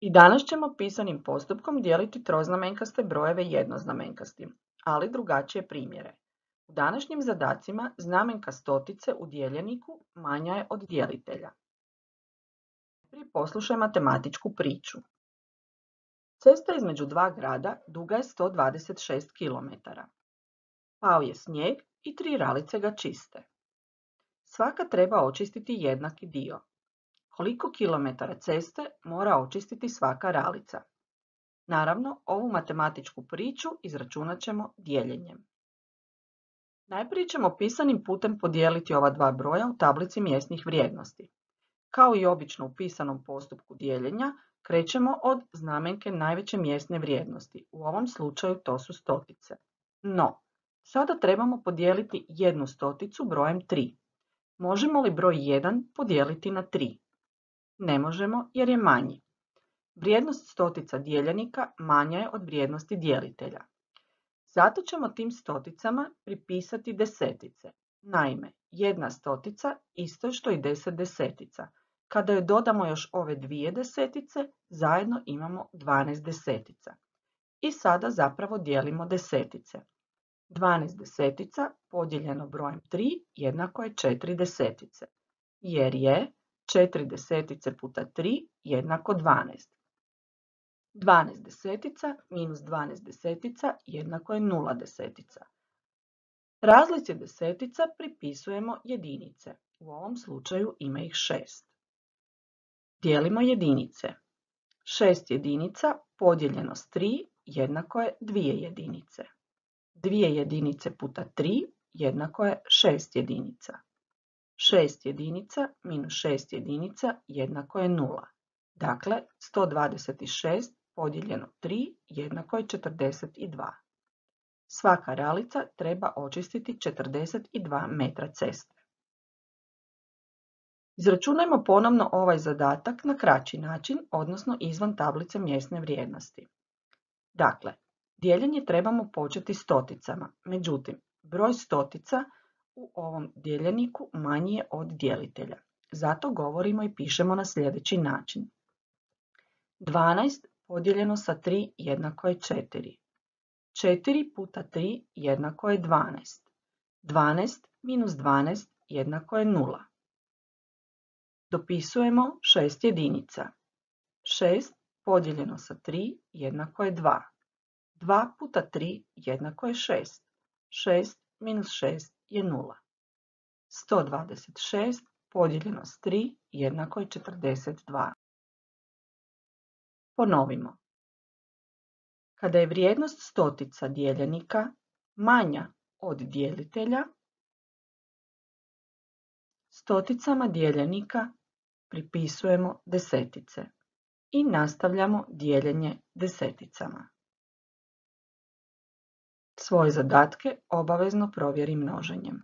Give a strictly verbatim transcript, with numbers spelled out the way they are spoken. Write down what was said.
I danas ćemo pisanim postupkom dijeliti troznamenkaste brojeve jednoznamenkastim, ali drugačije primjere. U današnjim zadacima znamenka stotice u dijeljeniku manja je od djelitelja. Prije poslušaj matematičku priču. Cesta između dva grada duga je sto dvadeset šest kilometara. Pao je snijeg i tri ralice ga čiste. Svaka treba očistiti jednaki dio. Koliko kilometara ceste mora očistiti svaka ralica? Naravno, ovu matematičku priču izračunat ćemo dijeljenjem. Najprije ćemo pisanim putem podijeliti ova dva broja u tablici mjesnih vrijednosti. Kao i obično u pisanom postupku dijeljenja, krećemo od znamenke najveće mjesne vrijednosti. U ovom slučaju to su stotice. No, sada trebamo podijeliti jednu stoticu brojem tri. Možemo li broj jedan podijeliti na tri? Ne možemo jer je manji. Vrijednost stotica dijeljenika manja je od vrijednosti dijelitelja. Zato ćemo tim stoticama pripisati desetice. Naime, jedna stotica isto je što i deset desetica. Kada joj dodamo još ove dvije desetice, zajedno imamo dvanaest desetica. I sada zapravo dijelimo desetice. dvanaest desetica podijeljeno brojem tri jednako je četiri desetice, jer je četiri desetice puta tri jednako dvanaest. dvanaest desetica minus dvanaest desetica jednako je nula desetica. Razlici desetica pripisujemo jedinice. U ovom slučaju ima ih šest. Dijelimo jedinice. šest jedinica podijeljeno s tri jednako je dvije jedinice. dvije jedinice puta tri jednako je šest jedinica. šest jedinica minus šest jedinica jednako je nula. Dakle, sto dvadeset šest podijeljeno tri jednako je četrdeset dva. Svaka ralica treba očistiti četrdeset dva metra ceste. Izračunajmo ponovno ovaj zadatak na kraći način, odnosno izvan tablice mjesne vrijednosti. Dakle, dijeljenje trebamo početi stoticama, međutim, broj stotica u ovom dijeljeniku manji je od dijelitelja. Zato govorimo i pišemo na sljedeći način. dvanaest podijeljeno sa tri jednako je četiri. četiri puta tri jednako je dvanaest. dvanaest minus dvanaest jednako je nula. Dopisujemo šest jedinica. šest podijeljeno sa tri jednako je dva. dva puta tri jednako je šest. šest minus šest je nula. sto dvadeset šest podijeljeno s tri jednako je četrdeset dva. Ponovimo. Kada je vrijednost stotica dijeljenika manja od dijelitelja, stoticama dijeljenika pripisujemo desetice i nastavljamo dijeljenje deseticama. Svoje zadatke obavezno provjeri množenjem.